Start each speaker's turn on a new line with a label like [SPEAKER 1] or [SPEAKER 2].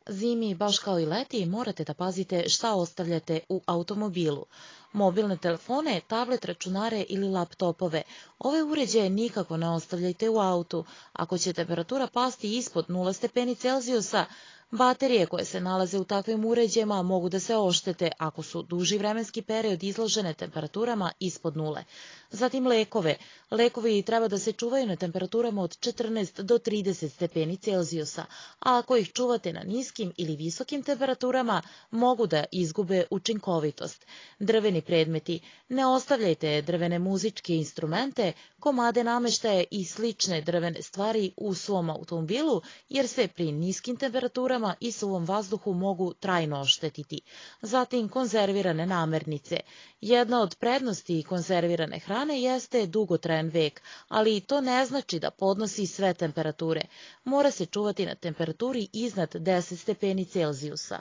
[SPEAKER 1] Zimi, baš kao i leti, morate da pazite šta ostavljate u automobilu. Mobilne telefone, tablet, računare ili laptopove. Ove uređaje nikako ne ostavljajte u autu. Ako će temperatura pasti ispod 0 stepeni Celzijusa, baterije koje se nalaze u takvim uređajima mogu da se oštete ako su duži vremenski period izložene temperaturama ispod 0. Zatim lekove. Lekovi treba da se čuvaju na temperaturama od 14 do 30 stepeni Celzijusa, a ako ih čuvate na niskim ili visokim temperaturama, mogu da izgube učinkovitost. Drveni predmeti. Ne ostavljajte drvene muzičke instrumente, komade nameštaja i slične drvene stvari u svom automobilu, jer se pri niskim temperaturama i suvom vazduhu mogu trajno oštetiti. Zatim konzervirane namirnice. Jedna od prednosti konzervirane hrane jeste dugotrajan vek, ali to ne znači da podnosi sve temperature. Mora se čuvati na temperaturi iznad 10 stepeni Celzijusa.